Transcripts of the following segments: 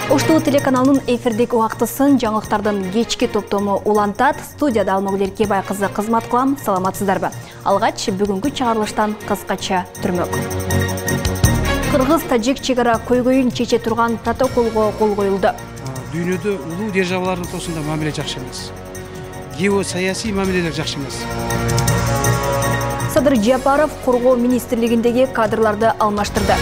Ош-ТВ телеканалынын эфирдик убактысын жаңылыктардын кечки топтому улантат. Студияда Алмагүл Эркебай кызы кызмат кылам. Саламатсыздарбы? Алгач бүгүнкү чыгарылыштан кыскача түрмөк. Кыргыз-тажик чегара көйгөйүн чече турган протоколго кол коюлду. Дүйнөдө улуу державалардын ортосунда мамиле жакшы эмес. Геосаясий мамилелер жакшы эмес. Садыр Жапаров Коргоо министрлигиндеги кадрларды алмаштырды.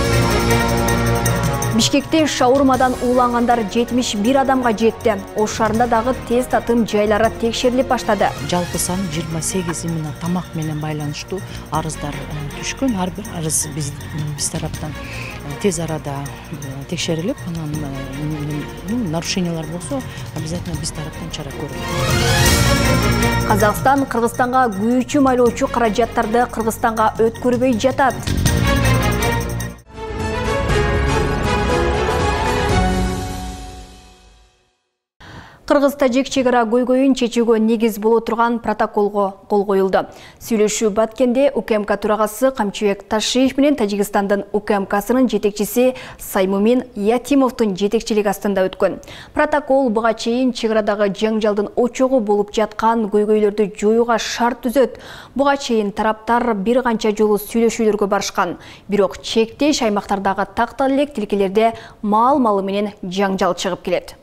Бишкекте шаурмадан уулангандар 71 адамга жетти. Ош шаарында дагы тез татым жайлары текшерилип баштады. Жалпы сан 28 миң тамак менен байланыштуу арыздар түшкөн. Ар бир арыз биз тараптан тез арада текшерилип, анан нарушениялар болсо, обязательно биз тараптан чара көрүлөт. Казакстан Кыргызстанга күйүүчү майлоочу каражаттарды Кыргызстанга өткөрбөй жатат. Кыргыз-тажик чегара көйгөйүн чечүүгө негиз боло турган протоколго кол коюлду. Сүйлөшүү Баткенде УКМК төрагасы Камчыбек Ташиев менен Тажикстандын УКМКсынын жетекчиси Саймумин Ятимовдун жетекчилиги астында өткөн. Протокол буга чейин чегарадагы жаңжалдын очогу болуп жаткан көйгөйлөрдү жоюуга шарт түзөт. Буга чейин тараптар бир канча жолу сүйлөшүүлөргө барышкан. Бирок чектеш аймактардагы тактал элек тилкелерде мал менен жаңжал чыгып келет.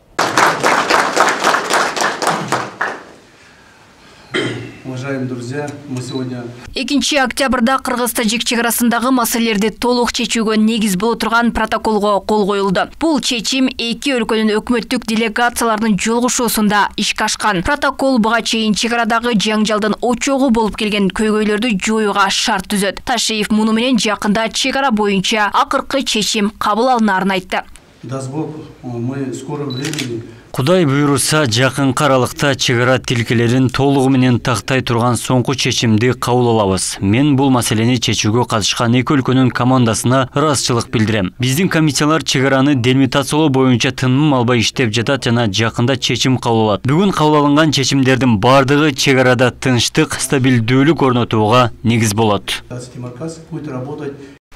Уважаемые друзья, мы сегодня 2 октябрда Кыргыз-тажик чегарасындагы маселелерди толук чечүүгө негиз боло турган протоколго кол коюлду. Бул чечим эки өлкөнүн өкмөттүк делегацияларынын жолугушуусунда ишке ашкан. Протокол буга чейин чегарадагы жаңжалдын очогу болуп келген көйгөйлөрдү жоюуга шарт түзөт. Ташиев муну менен жакында чегара боюнча акыркы чечим кабыл алынаарын айтты. даст Бог, мы в скором времени Кудай буйруса, жакынкы аралыкта чегара тилкелерин толугу менен тактай турган соңку чечимди кабыл алабыз. Мен бул маселени чечүүгө катышкан эки өлкөнүн командасына ыраазычылык билдирем. Биздин комиссиялар чегараны делимитациялоо боюнча тыным албай иштеп жатат жана жакында чечим кабыл алат. Бүгүн кабыл алынган чечимдердин бардыгы чегарада тынчтык, стабилдүүлүк орнотууга негиз болот.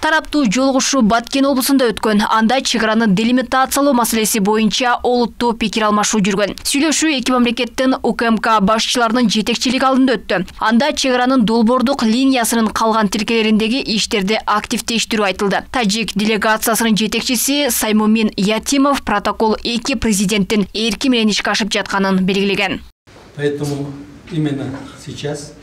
Тараптуу жолугушуу Баткен облусунда өткөн. Анда чегараны делимитациялоо маселеси боюнча олуттуу пикир алмашуу жүргөн. Сүйлөшүү эки мамлекеттин УКМК башчыларынын жетекчилиги алдында өттү. Анда чегаранын долбоордук линиясынын калган тилкелериндеги иштерди активдештирүү айтылды. Тажик делегациясынын жетекчиси Саймумин Ятимов протокол эки президенттин эрки менен ишке ашып жатканын белгилеген. Поэтому именно сейчас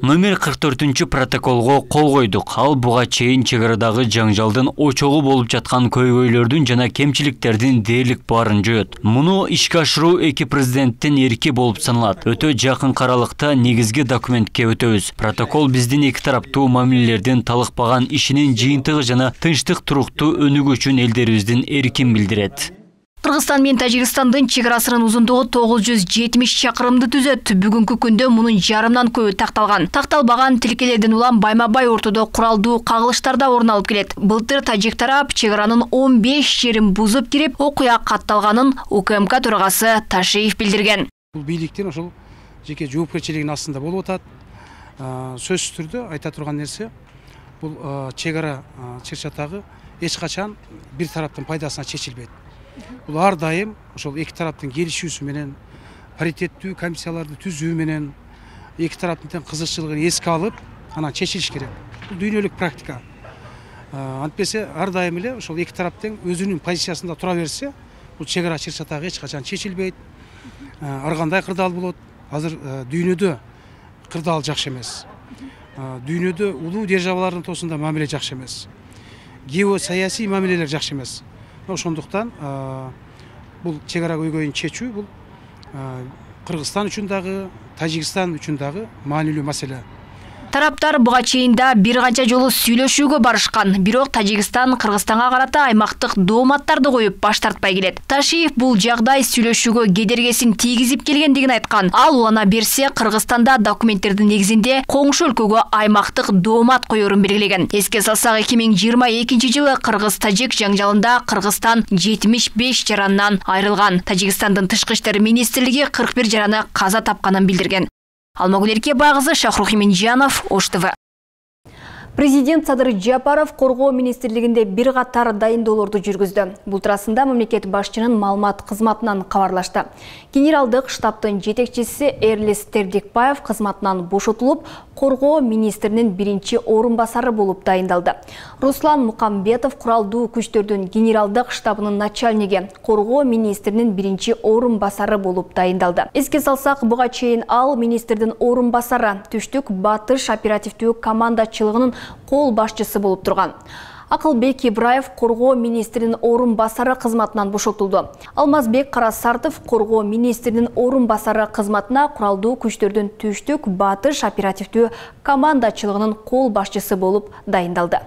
Номер 44 протоколго кол койдук. Ал буга чейин чегарадагы жаңжалдын очогу болуп жаткан көйгөйлөрдүн жана кемчиликтердин дээрлик баарын жоет. Муну ишке ашыруу эки президенттин эрки болуп саналат. Өтө жакынкы аралыкта негизги документке өтөбүз. Протокол биздин эки тараптуу мамилелердин талыкпаган ишинин жыйынтыгы жана тынчтык туруктуу өнүгүү үчүн элдерибиздин эркин билдирет. Кыргызстан менен Тажикстандын чегарасынын узундугу 970 чакырымды түзөт. Бүгүнкү күндө мунун жарымдан көбү такталган. Такталбаган тилкелерден улам байма-бай ортодо куралдуу кагылыштарда орун алып келет. Былтыр тажик тарап чегаранын 15 жерин бузуп кирип, окуя катталганын УКМК төрагасы Ташиев билдирген. Бул бийликтин ошол жеке жоопкерчилигинин астында болуп атат. Сөзсүз түрдө айта турган нерсе, бул чегара чыр-чатагы эч качан бир тараптын пайдасына чечилбейт. Бул ар дайым ошол эки тараптын келишүүсү менен, паритеттүү комиссияларды түзүү менен эки тараптын тең кызыкчылыгын эске алып, анан чечилиш керек. Бул дүйнөлүк практика. Антпесе ар дайым эле ошол эки тарап тең өзүнүн позициясында тура берсе, бул чегара чыр-чатагы эч качан чечилбейт. Ар кандай кырдаал болот. Азыр дүйнөдө кырдаал жакшы эмес. Дүйнөдө улуу державалардын ортосунда мамиле жакшы эмес. Геосаясий мамилелер жакшы эмес. Ошондуктан бул чегара көйгөйүн чечүү бул Кыргызстан үчүн дагы, Тажикстан үчүн дагы маанилүү маселе. Тараптар буга чейинда бир канча жолу сүйлөшүүгө барышкан. Бирок Тажикстан Кыргызстанга карата аймактык дооматтарды коюп баш тартпай келет. Ташиев бул жагдай сүйлөшүүгө кедергесин тийгизип келгендигин айткан. Ал улана берсе Кыргызстанда документтердин негизинде коңшу өлкөгө аймактык доомат коерун белгилеген. Эске салсак 2022 жылы Кыргыз-тажик жаңжалында Кыргызстан 75 жарандан айрылган. Тажикстандын тышкы иштер министрлиги 41 жараны каза тапканын билдирген. Алмагүл Эркебай кызы, Шахрух Иминжанов, Ош-ТВ. Президент Садыр Жапаров Коргоо министрлигинде бир катар дайындоолорду жүргүздү. Бул туурасында мамлекет башчынын маалымат кызматынан кабарлашты. Генералдык штабтын жетекчиси Эрлис Тердикбаев кызматынан бошотулуп, Коргоо министринин биринчи орун басары болуп дайындалды. Руслан Мукамбетов куралдуу күчтөрдүн генералдык штабынын начальниги, Коргоо министринин биринчи орун басары болуп дайындалды. Эске салсак, буга чейин ал министрдин орун басары, түштүк батыш оперативдүү командачылыгынын кол башчысы болуп турган. Акылбек Ибраев Коргоо министринин орун басары кызматынан бошотулду. Алмазбек Карасартов Коргоо министринин орун басары кызматына куралдуу күчтөрдүн түштүк батыш оперативдүү командачылыгынын кол башчысы болуп дайындалды.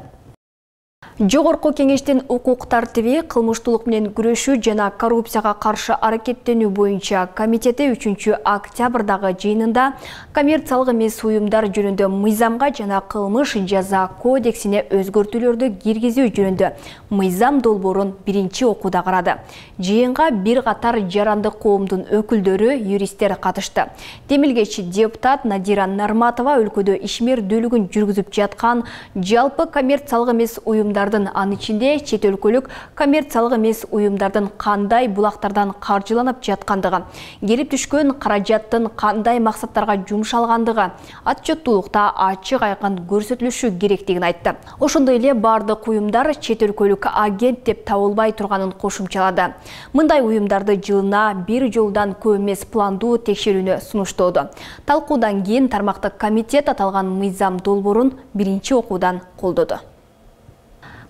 Жогорку кеңештин укук тартиби, кылмыштуулук менен күрөшүү жана коррупцияга каршы аракеттенүү боюнча комитети 3 октябрдагы жыйынында коммерциялык эмес уюмдар жөнүндө мыйзамга жана кылмыш жаза кодексине өзгөртүүлөрдү киргизүү жөнүндө мыйзам долбоорун биринчи окууда карады. Жыйынга бир катар жарандык коомдун өкүлдөрү, юристтер катышты. Демилгечи депутат Надира Нарматова өлкөдө ишмердүүлүгүн жүргүзүп жаткан жалпы коммерциялык эмес уюмдардын, анын ичинде чет өлкөлүк коммерциялык эмес уюмдардын кандай булактардан каржыланып жаткандыгы, келип түшкөн каражаттын кандай максаттарга жумшалгандыгы отчеттуулукта ачык айкын көрсөтүлүшү керектигин айтты. Ошондой эле бардык уюмдар чет өлкөлүк агент деп табылбай турганын кошумчалады. Мындай уюмдарды жылына бир жолдан көп эмес пландуу текшерүүнү сунуштоодо. Талкуудан кийин тармактык комитет аталган мыйзам долбоорун биринчи окуудан колдоду.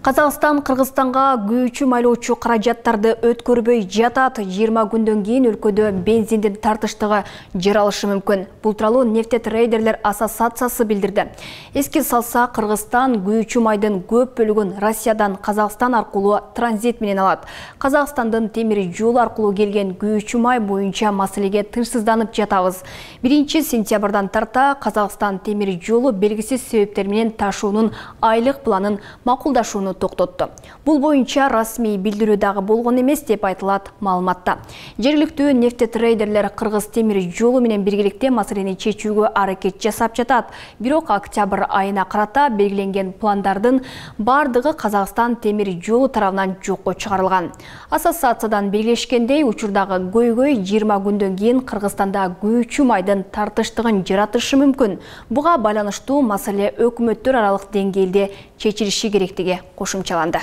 Казакстан Кыргызстанга күйүүчү майлоочу каражаттарды өткөрбөй жатат. 20 күндөн кийин өлкөдө бензиндин тартыштыгы жаралышы мүмкүн. Бул тууралуу нефтетрейдерлер ассоциациясы билдирди. Эске салса, Кыргызстан күйүүчү майдын көп бөлүгүн Россиядан Казакстан аркылуу транзит менен алат. Казакстандын темир жол аркылуу келген күйүүчү май боюнча маселеге тынчсызданып жатабыз. 1-сентябрдан тарта Казакстан темир жолу белгисиз себептер менен ташуунун айлык планын макулдашууну токтотту. Бул боюнча расмий билдирүү дагы болгон эмес деп айтылат маалыматта. Жергиликтүү нефтетрейдерлер Кыргыз темир жолу менен биргеликте маселени чечүүгө аракет жасап жатат. Бирок октябрь айына карата белгиленген пландардын бардыгы Казакстан темир жолу тарабынан жокко чыгарылган. Ассоциациядан белгилешкендей, учурдагы көйгөй 20 күндөн кийин Кыргызстанда күйүүчү майдын тартыштыгын жаратышы мүмкүн. Буга байланыштуу маселе өкмөттөр аралык деңгээлде чечилиши керектиги кошумчаланды.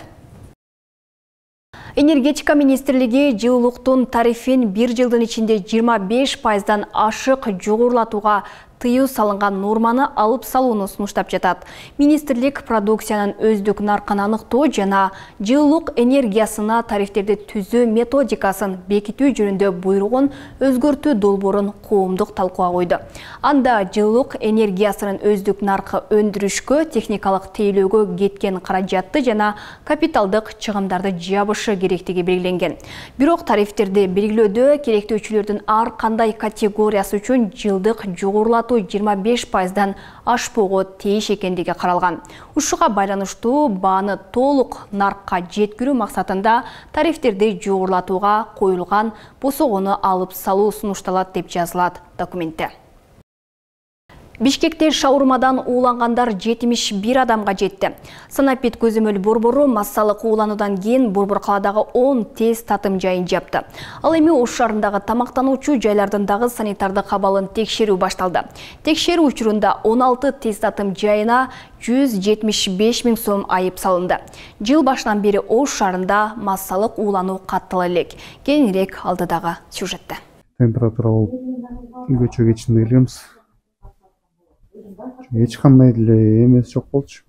Энергетика министрлиги жылуулуктун тарифин бир жылдын ичинде 25%дан ашык жогорулатууга тыюу салынган норманы алып салууну сунуштап жатат. Министрлик продукциянын өздүк наркын аныктоо жана жылуулук энергиясына тарифтерди түзүү методикасын бекитүү жөнүндө буйругун өзгөртүү долбоорун коомдук талкууга койду. Анда жылуулук энергиясынын өздүк наркы өндүрүшкө, техникалык тейлөөгө кеткен каражатты жана капиталдык чыгымдарды жабышы керектиги белгиленген. Бирок тарифтерди белгилөөдө керектөөчүлөрдүн ар кандай категориясы үчүн жылдык жогорулатуу 25%дан ашпоого тийиш экендиги каралган. Ушуга байланыштуу бааны толук наркка жеткирүү максатында тарифтерди жогорулатууга коюлган босогону алып салуу сунушталат деп жазылат документте. Бишкекте шаурмадан уулангандар 71 адамга жетти. Санапит көзөмөл борбору массалык уулануудан кийин Борбор калаадагы 10 тест татым жайын жапты. Ал эми Ош шаарындагы тамактануучу жайлардын дагы санитардык абалын текшерүү башталды. Текшерүү учурунда 16 тест татым жайына 175 000 сом айып салынды. Жыл башынан бери Ош шаарында массалык уулануу каттала элек. Кийинирээк алдыдагы сюжетте. Температура болуп көчө кечинде келгенбиз. Эч кандай деле эмес жок болчу.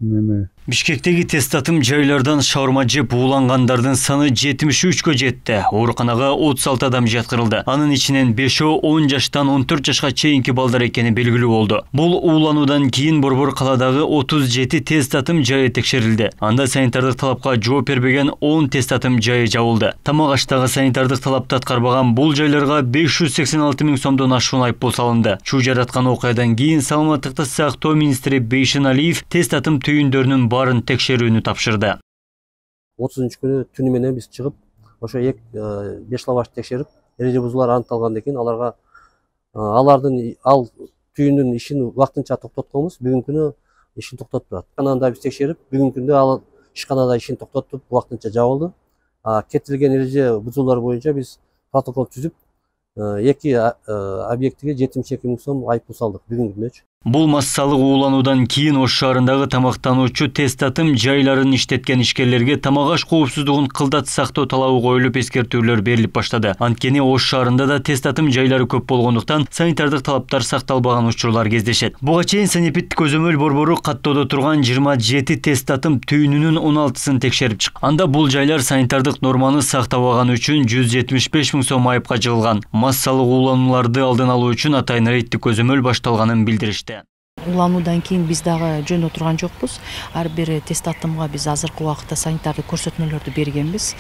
Бишкектеги тест татым жайлардан шаурма жеп уулангандардын саны 73кө жетти. Ооруканага 36 адам жаткырылды. Анын ичинен 5-о 10 жаштан 14 жашка чейинки балдар экени белгилүү болду. Бул уулануудан кийин Борбор калаадагы 37 тест татым жайы текшерилди. Анда санитардык талапка жооп бербеген 10 тест татым жайы жабылды. Тамак аштагы санитардык талапты аткарбаган бул жайларга 586 000 сомдон ашуун айыппул салынды. Чуу жараткан окуядан кийин саламаттыкты сактоо министри Бейшин Алиев тест татым түйүндөрүнүн барын текшерүүнү тапшырды. 30-күнү түнү менен биз чыгып, ошо 5 лаваш текшерип, эреже бузуулар аныкталгандан кийин алардын ал түйүндүн ишин вактынча токтотконбуз. Бүгүнкү күнү ишин токтотуп турат. Анан биз текшерип, бүгүнкү күндө ал ишканада ишин токтотуп, убактынча жабылды. Кетирилген эреже бузуулар боюнча биз протокол түзүп, 2 объектиге 72 000 сом айыппул салдык бүгүнкү күндөчү. Бул массалык уулануудан кийин Ош шаарындагы тамактануучу тест татым жайларын иштеткен ишкерлерге тамак аш коопсуздугун кылдат сактоо талабы коюлуп эскертүүлөр берилип баштады. Анткени Ош шаарында да тест татым жайлары көп болгондуктан санитардык талаптар сакталбаган учурлар кездешет. Буга чейин санепид көзөмөл борбору каттоодо турган 27 тест татым түйүнүнүн 16сын текшерип чыккан. Анда бул жайлар санитардык норманы сактабаган үчүн 175 000 сом айыпка жыгылган. Массалык ууланууларды алдын алуу үчүн атайын рейдтик көзөмөл башталганын билдиришти. Улануудан кийин биз дагы жөн отурган жокпуз. Ар бир тест татымга биз азыркы убакытта санитардык көрсөтмөлөрдү бергенбиз.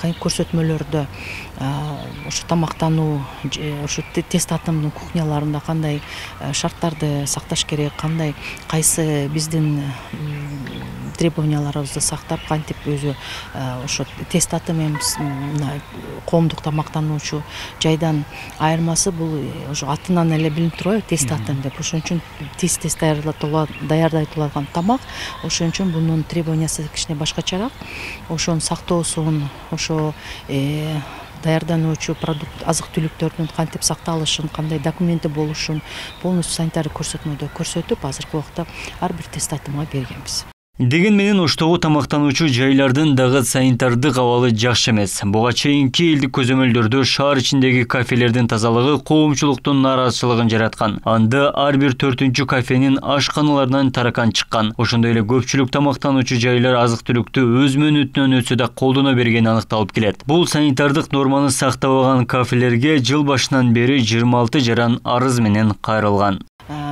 Көрсөтмөлөрдө ошо тамактануу, ошо тест татымдын кухняларында кандай шарттарды сакташ керек, кандай кайсы биздин требованияларыбызды сактап, кантип өзү ошо тест татым коомдук тамактануучу жайдан айырмасы бул ошо атынан эле билинип турбайбы, тест татым деп. Ошон үчүн тез даярдай турган тамак, ошон үчүн бунун требованиясы кичине башкачараак. Ошонун сактоосун, ошо даярдануучу продукт, азык-түлүктөрдүн кантип сакталышын, кандай документи болушун полностью санитардык көрсөтмөдө көрсөтүп, азыркы убакта ар бир тест татымга бергенбиз. Деген менен Оштогу тамактануучу жайлардын дагы санитардык абалы жакшы эмес. Буга чейинки элдик көзөмөлдөрдө шаар ичиндеги кафелердин тазалыгы коомчулуктун нааразычылыгын жараткан. Анда ар бир 4-үнчү кафенин ашканаларынан таракан чыккан. Ошондой эле көпчүлүк тамактануучу жайлар азык-түлүктү өз мөөнөтүнөн өтсө да колдоно бергени аныкталып келет. Бул санитардык норманы сактабаган кафелерге жыл башынан бери 26 жаран арыз менен кайрылган.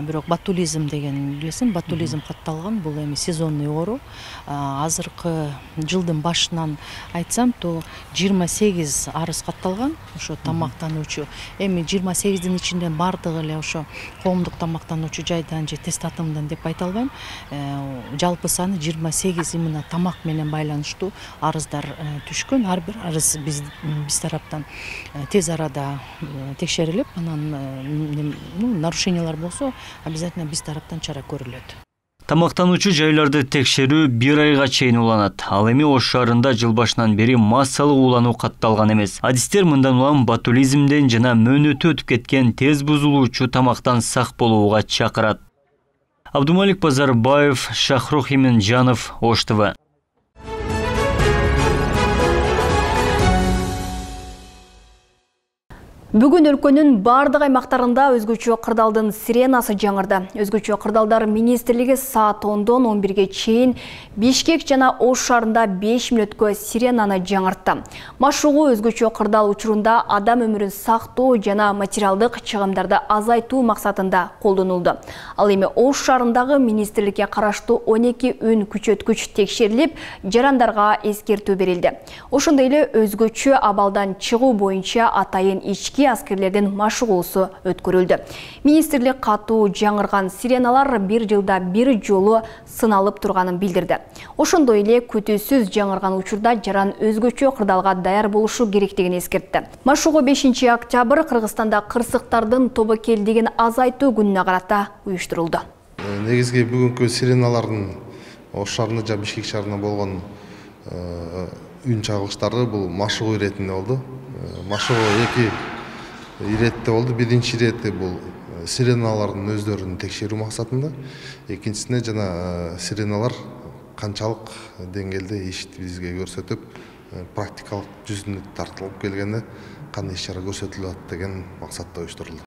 Бирок ботулизм деген билесиң, ботулизм катталган, бул эми сезонный оору. Азыркы жылдын башынан айтсам, то 28 арыз катталган, ошо тамактануучу. Эми 28дин ичинде бардыгы эле ошо коомдук тамактануучу жайдан же тест татымдан деп айта албайм. Жалпы саны 28 именно тамак менен байланыштуу арыздар түшкөн. Ар бир арыз биз тараптан тез арада текшерилип, анан нарушениялар болсо обязательно биз тараптан чара көрүлөт. Тамактануучу жайларды текшерүү 1 айга чейин уланат. Ал эми Ош шаарында жыл башынан бери массалык уулануу катталган эмес. Адистер мындан улам ботулизмден жана мөөнөтү өтүп кеткен тез бузулуучу тамактан сак болууга чакырат. Абдумалик Базарбаев, Шахрух Иминжанов, Ош ТВ. Бүгүн өлкөнүн бардык аймактарында өзгөчө кырдаалдын сиренасы жаңырды. Өзгөчө кырдаалдар министрлиги саат 10-дон 11-ге чейин Бишкек жана Ош шаарында 5 мүнөткө сиренаны жаңыртты. Машыгуу өзгөчө кырдаал учурунда адам өмүрүн сактоо жана материалдык чыгымдарды азайтуу максатында колдонулду. Ал эми Ош шаарындагы министрликке караштуу 12 үн күчөткүч текшерилип, жарандарга эскертүү берилди. Ошондой эле өзгөчө абалдан чыгуу боюнча атайын ички аскерлердин машыгуусу өткөрүлдү. Министрлик катуу жаңырган сиреналар 1 жылда 1 жолу сыналып турганын билдирди. Ошондой эле күтүүсүз жаңырган учурда жаран өзгөчө кырдаалга даяр болушу керектигин эскертти. Машыгуу 5 октябрь Кыргызстанда кырсыктардын тобокелдигин азайтуу күнүнө карата уюштурулду. Негизги бүгүнкү сиреналардын Ош шаарында жана Бишкек шаарында болгон үн чагылыштары бул машыгуу иретинде болду. Машыгуу 2 иретте болду. Биринчи ирети бул сиреналардын өздөрүн текшерүү максатында, экинчисине жана сиреналар канчалык деңгээлде ишти бизге көрсөтүп, практикалык жүзүнө тартылып келгенде кандай иш-чара көрсөтүлөт деген максатта уюштурулду.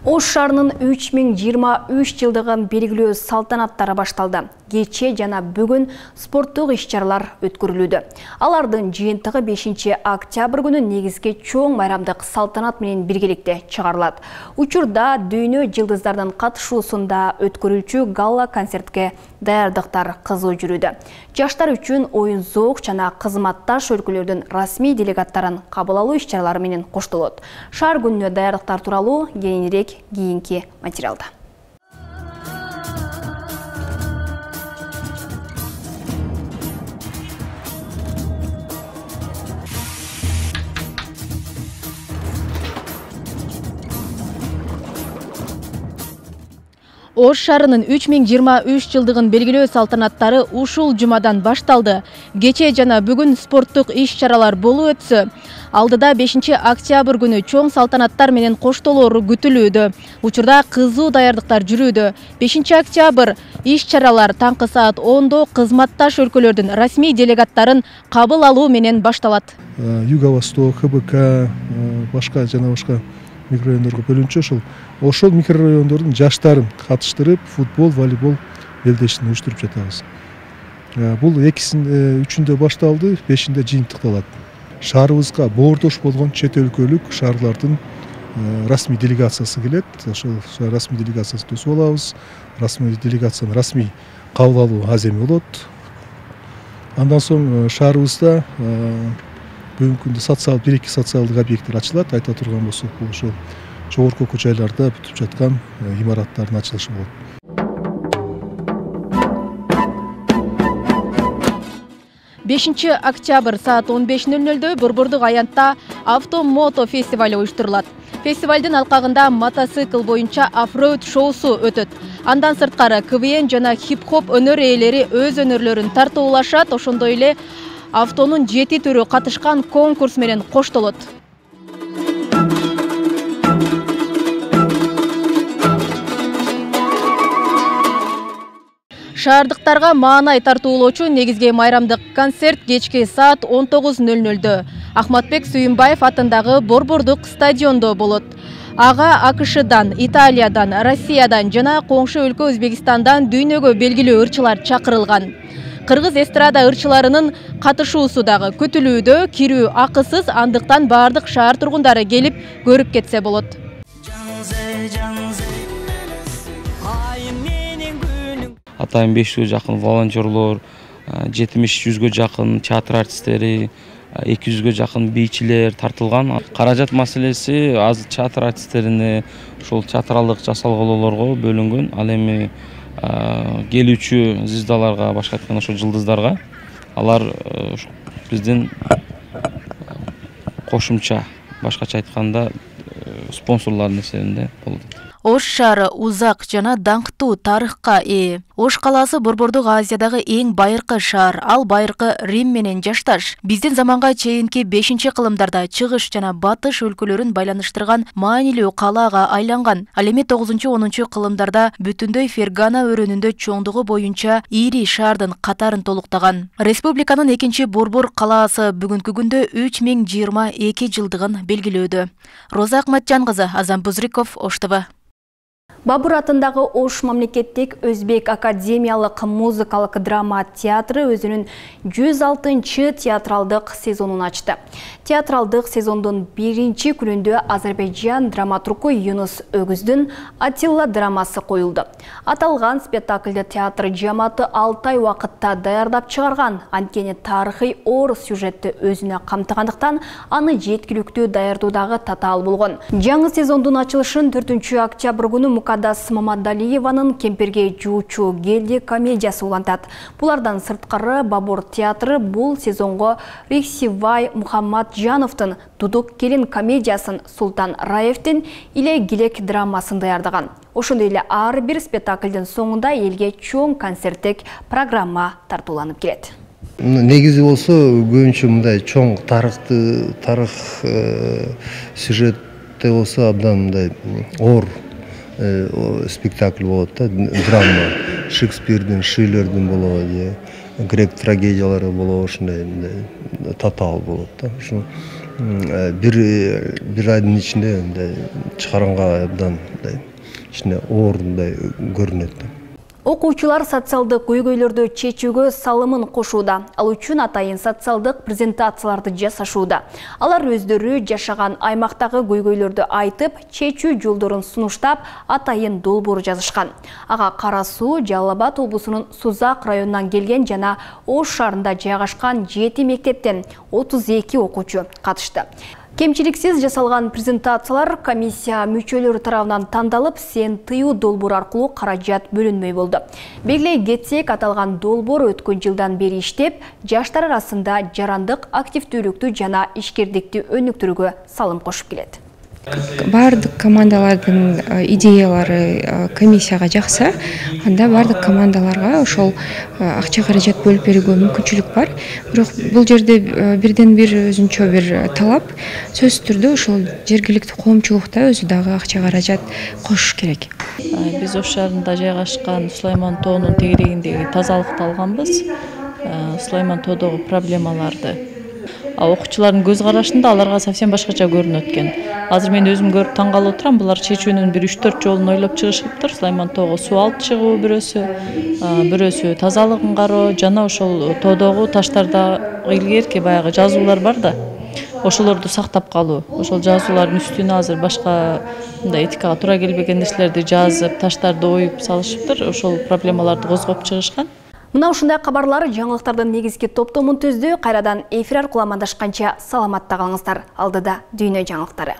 Ош шаарынын 3023 жылдыгын белгилөө салтанаттары башталды. Кече жана бүгүн спорттук иш-чаралар өткөрүлүүдө. Алардын жыйынтыгы 5 октябрь күнү негизги чоң майрамдык салтанат менен биргеликте чыгарылат. Учурда дүйнө жылдыздардын катышуусунда өткөрүлчү галла концертке даярдыктар кызуу жүрүүдө. Жаштар үчүн оюн зоок жана кызматташ өлкөлөрдүн расмий делегаттарын кабыл алуу иш-чаралары менен коштолот. Шаар күнүнө даярдыктар тууралуу кийинирээк кийинки материалда. Ош шаарынын 3023 жылдыгын белгилөө салтанаттары ушул жумадан башталды. Кече жана бүгүн спорттук иш-чаралар болуп өтсө, алдыда 5 октябрь күнү чоң салтанаттар менен коштолору күтүлүүдө. Учурда кызуу даярдыктар жүрүүдө. 5 октябрь иш-чаралар таңкы саат 10-до кызматташ өлкөлөрдүн расмий делегаттарын кабыл алуу менен башталат. Юго-Восток, ХБК, башка жана башка микрорайондорго бөлүнчү ошол микрорайондордун жаштарын катыштырып, футбол, волейбол белдешин уюштуруп жатабыз. Бул 2-3-үндө башталды, 5-inde жыйынтыкталат. Шаарыбызга боордош болгон чет өлкөлүк шаарлардын расмий делегациясы келет. Ошол расмий делегациясын төзүп алабыз. Расмий делегациянын расмий кабыл алуу аземи болот. Андан соң шаарыбызда бүгүнкү күндө 1-2 социалдык объекттер ачылат. Айта турган болсок, бул ошол жогорку көчөлөрдө бүтүп жаткан имараттардын ачылышы болот. 5 октябрь саат 15:00-дө Борбордук аянтта Авто-мото фестивалы уюштурулат. Фестивалдын алкагында мотоцикл боюнча оффроуд шоусу өтөт. Андан сырткары КВН жана хип-хоп өнөр ээлери өз өнөрлөрүн тартуулашат, ошондой эле автонун 7 түрү катышкан конкурс менен коштолот. Шаардыктарга маанай тартуулоочу негизги майрамдык концерт кечки саат 19:00-дө Ахматбек Сүйүнбаев атындагы Борбордук стадиондо болот. Ага АКШдан, Италиядан, Россиядан жана коңшу өлкө Өзбекстандан дүйнөгө белгилүү ырчылар чакырылган. Кыргыз эстрада ырчыларынын катышуусу дагы күтүлүүдө, кирүү акысыз, андыктан баардык шаар тургундары келип көрүп кетсе болот. Атайын 500-гө жакын волонтерлор, 70-100-гө жакын театр артисттери, 200-гө жакын бийчилер тартылган. Каражат маселеси аз театр артисттерине, ошол театралдык жасалголоолорго бөлүнгөн. Ал эми келүүчү звездаларга, башка айтканда ошо жылдыздарга алар биздин кошумча, башкача айтканда спонсорлордун эсебинде болду. Ош шаары узак жана даңктуу тарыхка ээ. Ош калаасы Борбордук Азиядагы эң байыркы шаар. Ал байыркы Рим менен жашташ. Биздин заманга чейинки 5-кылымдарда чыгыш жана батыш өлкөлөрүн байланыштырган маанилүү калаага айланган. Ал эми 9-10 кылымдарда бүтүндөй Фергана өрөөнүндө чоңдугу боюнча ири шаардын катарын толуктаган. Республиканын экинчи борбор калаасы бүгүнкү күндө 3022 жылдыгын белгилөөдө. Роза Акматжан кызы, Азам Бузриков, Ош ТВ. Бабур атындагы Ош мамлекеттик Өзбек академиялык музыкалык драма театры өзүнүн 106-чы театралдык сезонун ачты. Театралдык сезондун 1-чи күнүндө Азербайжан драматургу Юнус Өгүздүн Атилла драмасы коюлду. Аталган спектакльди театр жамааты 6 ай убакытта даярдап чыгарган. Анткени тарыхый оор сюжетти өзүнө камтыгандыктан аны жеткиликтүү даярдоодагы татаал болгон. Жаңы сезондун ачылышын 4 октябрь күнү Мукаддас Мамадалиеванын Кемперге жуучу келди комедиясы улантат. Булардан сырткары Бабур театры бул сезонго Рихсивай Мухаммаджановдун Дудук келин комедиясын, Султан Раевдин Иле Гилек драмасын даярдаган. Ошондой эле ар бир спектаклдин соңунда элге чоң концерттик программа тартууланып келет. Негизи болсо көбүнчө мындай чоң тарых сюжетте болсо абдан мындай оор спектакль болот да, драма, Шекспирдин, Шиллердин болобу, грек трагедиялары болобу, ушундай татаал болот да. Ушу бир айдын ичинде чыгарганга абдан ичине оор көрүнөт да. Окуучулар социалдык көйгөйлөрдү чечүүгө салымын кошууда. Ал үчүн атайын социалдык презентацияларды жасашууда. Алар өздөрү жашаган аймактагы көйгөйлөрдү айтып, чечүү жолдорун сунуштап, атайын долбоор жазышкан. Ага Кара Суу, Жалал Абад облусунун Сузак районунан келген жана Ош шаарында жайгашкан 7 мектептен 32 окуучу катышты. Кемчиликсиз жасалган презентациялар комиссия мүчөлөрү тарабынан тандалып, сен тыюу долбоор аркылуу каражат бөлүнмөй болду. Белгилей кетсек, аталган долбоор өткөн жылдан бери иштеп, жаштар арасында жарандык активдүүлүктү жана ишкердикти өнүктүрүүгө салым кошуп келет. бардык командалардын идеялары комиссияга жакса, анда бардык командаларга ошол акча каражат бөлүп берүүгө мүмкүнчүлүк бар. Бирок бул жерде бирден бир өзүнчө бир талап, сөзсүз түрдө ошол жергиликтүү коомчулукта өзү дагы акча каражат кошуш керек. Биз Ош шаарында жайгашкан Сулайман тоонун тегерегиндеги тазалыкты алганбыз. Сулайман тоодогу проблемаларды. Окуучулардын көз карашында аларга совсем башкача көрүнөт экен. Азыр мен өзүм көрүп таң калып отурам. Булар чечүүнүн бир 3-4 жолун ойлоп чыгышыптыр. Сулайман тоого суу алып чыгуу бирөөсү тазалыгын кароо, жана ошол тоодогу таштарда илгерки баягы жазуулар бар да. Ошолорду сактап калуу. Ошол жазуулардын үстүнө азыр башка мындай этикага туура келбеген нерселерди жазып, таштарды оюп салышыптыр. Ошол проблемаларды козгоп чыгышкан. Мына ушундай кабарлар жаңылыктардын негизги топтомун түздү. Кайрадан эфир аркылуу амандашканча саламатта калыңыздар. Алдыда дүйнө жаңылыктары.